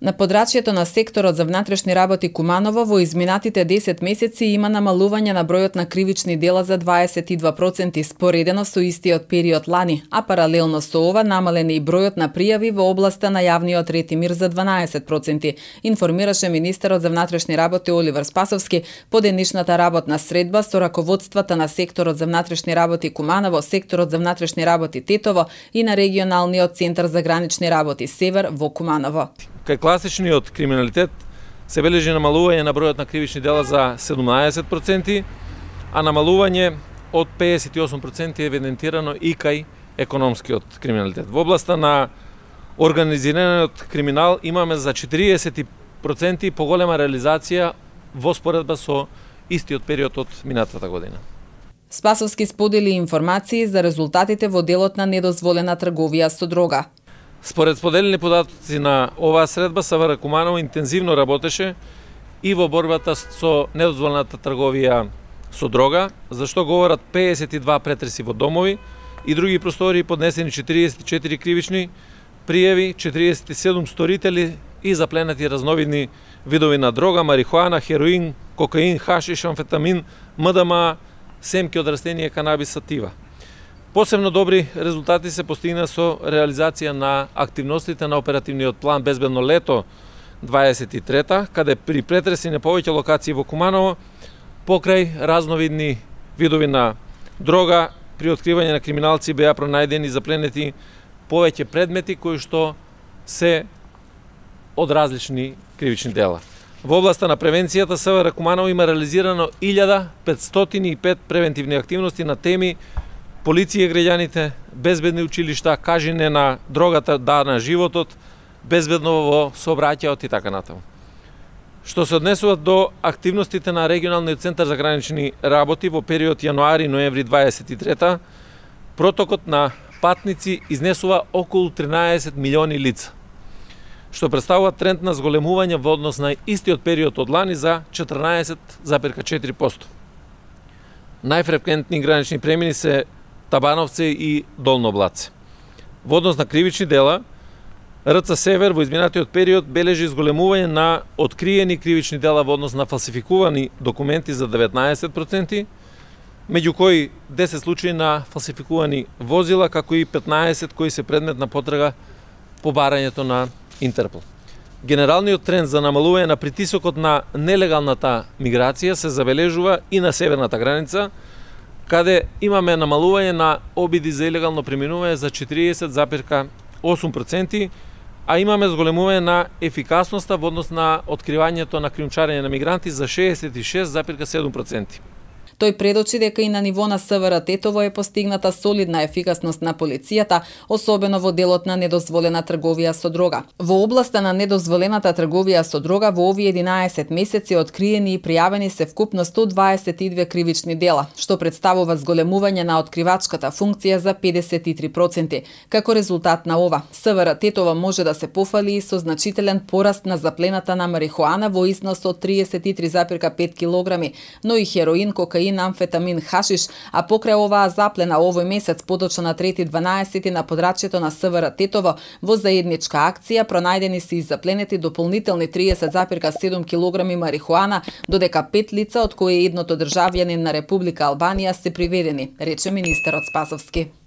На подрачјето на секторот за внатрешни работи Куманово во изминатите 10 месеци има намалување на бројот на кривични дела за 22% споредено со истиот период лани, а паралелно со ова намален и бројот на пријави во областа на јавниот ред и мир за 12%, информираше министерот за внатрешни работи Оливер Спасовски по денешната работна средба со раководствата на секторот за внатрешни работи Куманово, секторот за внатрешни работи Тетово и на регионалниот центар за гранични работи Север во Куманово. Кај класичниот криминалитет се бележи намалување на бројот на кривични дела за 17%, а намалување од 58% е евидентирано и кај економскиот криминалитет. Во областа на организираниот криминал имаме за 40% поголема реализација во споредба со истиот период од минатата година. Спасовски сподели информации за резултатите во делот на недозволена трговија со дрога. Според споделени податоци на оваа средба, СВР Куманово интензивно работеше и во борбата со недозволената трговија со дрога, за што говорат 52 претреси во домови и други простори, поднесени 44 кривични пријави, 47 сторители и запленати разновидни видови на дрога, марихуана, хероин, кокаин, хашиш, амфетамин, МДМА, семки од растение, канабис, сатива. Посебно добри резултати се постигна со реализација на активностите на оперативниот план Безбедно лето 23, каде при претреси на повеќе локации во Куманово, покрај разновидни видови на дрога, при откривање на криминалци беа пронајдени запленети повеќе предмети кои што се од различни кривични дела. Во областа на превенцијата СВР Куманово има реализирано 1505 превентивни активности на теми полиција граѓаните, безбедни училишта, кажење на дрогата, да на животот, безбедно во сообраќајот и така натаму. Што се однесува до активностите на регионалниот центар за гранични работи во период јануари-ноември 23, протокот на патници изнесува околу 13 милиони лица, што представува тренд на зголемување во однос на истиот период од лани за 14,4%. Најфреквентни гранични премини се Табановце и Долно Блаце. Во однос на кривични дела, РЦ Север во изминатиот период бележи зголемување на откриени кривични дела во однос на фалсификувани документи за 19%, меѓу кои 10 случаи на фалсификувани возила, како и 15 кои се предмет на потрага по барањето на Интерпол. Генералниот тренд за намалување на притисокот на нелегалната миграција се забележува и на северната граница, каде имаме намалување на обиди за илегално преминување за 40,8%, а имаме зголемување на ефикасноста во однос на откривањето на кријумчарење на мигранти за 66,7%. Тој предочи дека и на ниво на СВР Тетово е постигната солидна ефикасност на полицијата, особено во делот на недозволена трговија со дрога. Во областа на недозволената трговија со дрога во овие 11 месеци откриени и пријавени се вкупно 122 кривични дела, што представува зголемување на откривачката функција за 53%. Како резултат на ова, СВР Тетово може да се пофали и со значителен пораст на заплената на марихуана во износ од 33,5 кг, но и хероин, кокаин, амфетамин, хашиш, а покрај оваа заплена овој месец подочно на 3.12 на подрачјето на СВР Тетово во заедничка акција пронајдени се и запленети дополнителни 30,7 кг марихуана, додека 5 лица, од кои едното државјанин на Република Албанија, се приведени, рече министерот Спасовски.